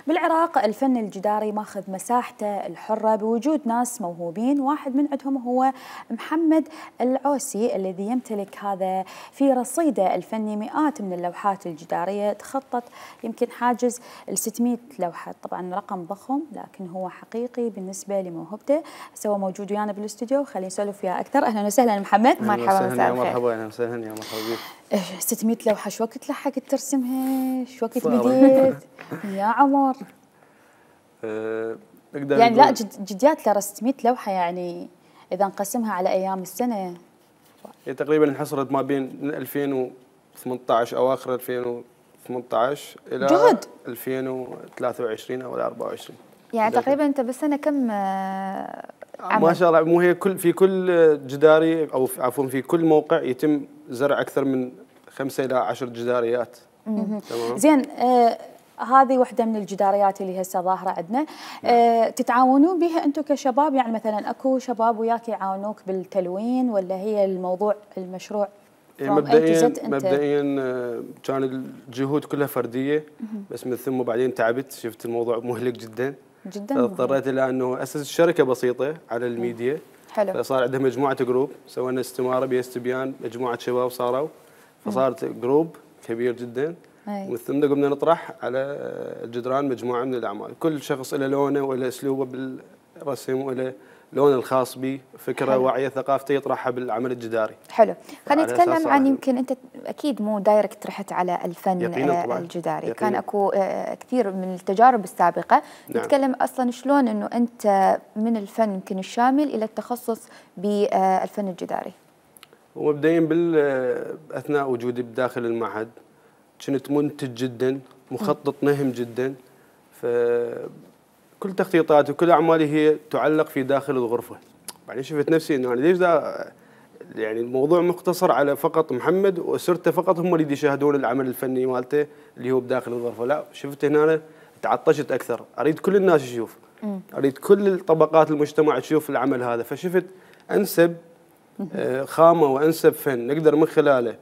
بالعراق الفن الجداري ماخذ مساحته الحرة بوجود ناس موهوبين، واحد من عندهم هو محمد العوسي الذي يمتلك هذا في رصيده الفني مئات من اللوحات الجدارية تخطت يمكن حاجز ال 600 لوحة، طبعا رقم ضخم لكن هو حقيقي بالنسبة لموهبته. هو موجود ويانا بالاستوديو، خلينا نسولف وياه أكثر. أهلا وسهلا محمد. مرحبا مساء الخير. مرحبا اهلا وسهلا يا مرحبا بك. 600 لوحة شو وقت لحقت ترسمها؟ شو وقت بديت؟ يا عمر يعني لا جديات ل 600 لوحة، يعني إذا نقسمها على أيام السنة هي تقريبا انحصرت ما بين 2018 أواخر 2018 إلى جهد 2023 أو 24. يعني تقريبا أنت بالسنة كم عمل؟ ما شاء الله. مو هي في كل جداري أو عفوا في كل موقع يتم زرع أكثر من 5 إلى 10 جداريات. تمام. زين هذه واحدة من الجداريات اللي هسه ظاهرة عندنا. تتعاونون بها أنتم كشباب؟ يعني مثلا أكو شباب وياك يعاونوك بالتلوين ولا هي المشروع مبدئيا كان الجهود كلها فردية، بس من ثم بعدين تعبت، شفت الموضوع مهلك جدا فاضطريت إلى أنه أسس شركة بسيطة على الميديا. حلو. فصار عندها مجموعة جروب، سوينا استمارة باستبيان مجموعة شباب صاروا، فصارت جروب كبير جدا. ومن ثم قمنا نطرح على الجدران مجموعة من الأعمال، كل شخص له لونه وله أسلوبه بالرسم وله لونه الخاص به، فكرة حلو. واعية ثقافته يطرحها بالعمل الجداري. حلو. خلينا نتكلم عن، يمكن أنت أكيد مو دايركت رحت على الفن الجداري، كان أكو كثير من التجارب السابقة. نعم. نتكلم أصلا شلون أنه أنت من الفن يمكن الشامل إلى التخصص بالفن الجداري. ومبدئيا أثناء وجودي بداخل المعهد كنت منتج جدا، مخطط نهم جدا، فكل تخطيطاتي وكل أعمالي هي تعلق في داخل الغرفة. بعدين شفت نفسي إنه أنا ليش يعني الموضوع مقتصر على فقط محمد وأسرته فقط هم اللي يشاهدون العمل الفني مالته اللي هو بداخل الغرفة. لا، شفت هنا أنا تعطشت أكثر، أريد كل الناس يشوف، أريد كل طبقات المجتمع تشوف العمل هذا. فشفت أنسب خامة وأنسب فن نقدر من خلاله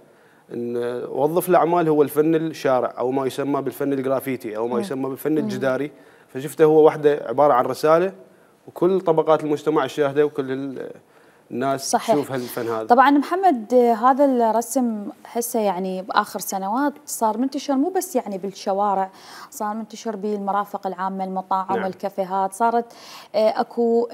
نوظف الأعمال هو الفن الشارع أو ما يسمى بالفن الجرافيتي أو ما يسمى بالفن الجداري. فشفته هو وحده عبارة عن رسالة وكل طبقات المجتمع تشاهده وكل الناس صحيح. تشوف هالفن هذا. طبعا محمد هذا الرسم هسه يعني بآخر سنوات صار منتشر مو بس يعني بالشوارع، صار منتشر بالمرافق العامة، المطاعم. نعم. والكافيهات، صارت اكو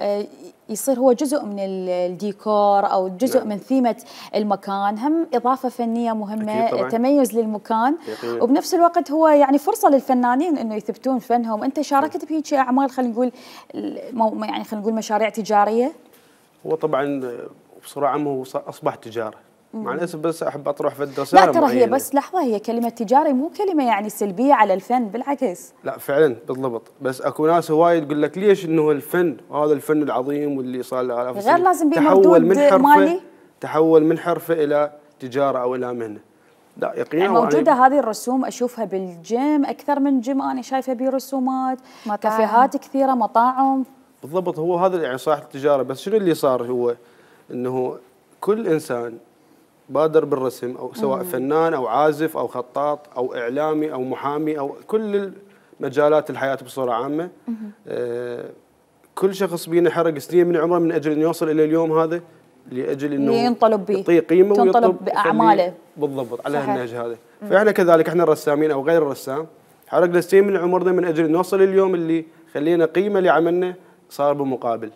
يصير هو جزء من الديكور او جزء. نعم. من ثيمة المكان، هم إضافة فنية مهمة، تميز للمكان. يقين. وبنفس الوقت هو يعني فرصة للفنانين انه يثبتون فنهم. انت شاركت بهيك اعمال، خلينا نقول يعني خلينا نقول مشاريع تجارية؟ هو طبعا بصراحة هو أصبح تجارة، مع الأسف، بس أحب أطرح في الرسالة. لا ترى هي بس لحظة، هي كلمة تجاري مو كلمة يعني سلبية على الفن، بالعكس. لا فعلا بالضبط، بس اكو ناس هواي تقول لك ليش انه الفن هذا الفن العظيم واللي صار له آلاف السنين غير لازم بمردود مالي، تحول من حرفة إلى تجارة أو إلى مهنة. لا يقينا يعني موجودة هذه الرسوم، أشوفها بالجيم أكثر من جيم، أنا شايفة برسومات، كافيهات كثيرة، مطاعم. بالضبط، هو هذا يعني صح التجارة. بس شنو اللي صار هو انه كل انسان بادر بالرسم، او سواء فنان او عازف او خطاط او اعلامي او محامي او كل مجالات الحياة بصورة عامة. كل شخص بينا حرق سنين من عمره من اجل انه يوصل الى اليوم هذا، لاجل انه ينطلب به، يعطيه قيمة تنطلب باعماله. بالضبط على النهج هذا. فاحنا كذلك، احنا الرسامين او غير الرسام حرقنا سنين من عمرنا من اجل نوصل اليوم اللي خلينا قيمة لعملنا صار بمقابل.